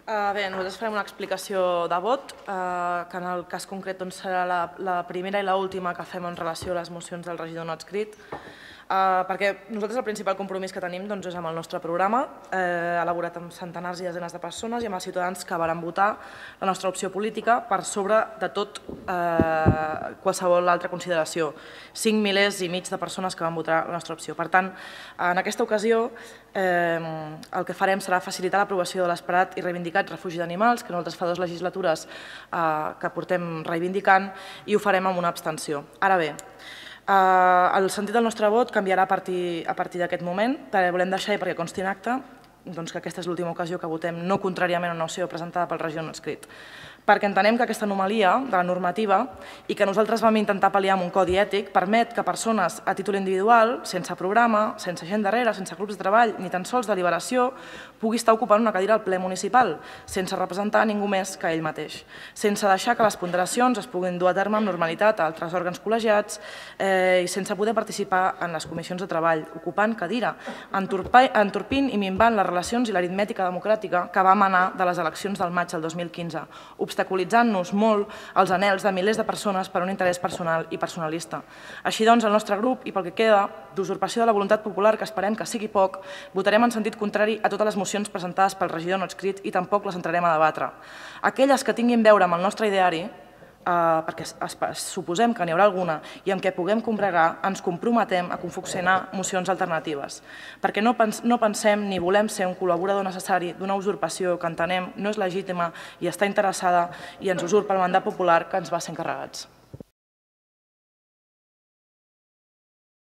Bé, nosaltres farem una explicació de vot, que en el cas concret serà la primera i l'última que fem en relació a les mocions del regidor no adscrit, perquè nosaltres el principal compromís que tenim és amb el nostre programa, elaborat amb centenars i desenes de persones i amb els ciutadans que varen votar la nostra opció política per sobre de tot qualsevol altra consideració. 5 milers i mig de persones que van votar la nostra opció. Per tant, en aquesta ocasió el que farem serà facilitar l'aprovació de l'esperat i reivindicat refugi d'animals, que nosaltres fa 2 legislatures que portem reivindicant, i ho farem amb una abstenció. Ara bé, el sentit del nostre vot canviarà a partir d'aquest moment, perquè volem deixar, i perquè consti en acte, que aquesta és l'última ocasió que votem no contràriament a una moció presentada pel regidor no adscrit, perquè entenem que aquesta anomalia de la normativa i que nosaltres vam intentar pal·liar amb un codi ètic permet que persones a títol individual, sense programa, sense gent darrere, sense grups de treball, ni tan sols deliberació, pugui estar ocupant una cadira al ple municipal, sense representar ningú més que ell mateix, sense deixar que les ponderacions es puguin dur a terme amb normalitat a altres òrgans col·legiats i sense poder participar en les comissions de treball, ocupant cadira, entorpint i minvant les relacions i l'aritmètica democràtica que va emanar de les eleccions del maig del 2015, obstaculitzant-nos molt els anhels de milers de persones per un interès personal i personalista. Així doncs, el nostre grup, i pel que queda, d'usurpació de la voluntat popular, que esperem que sigui poc, votarem en sentit contrari a totes les mocions presentades pel regidor no adscrit i tampoc les entrarem a debatre. Aquelles que tinguin a veure amb el nostre ideari, perquè suposem que n'hi haurà alguna i amb què puguem combregar, ens comprometem a confeccionar mocions alternatives, perquè no pensem ni volem ser un col·laborador necessari d'una usurpació que entenem no és legítima i està interessada i ens usurpa el mandat popular que ens va ser encarregats.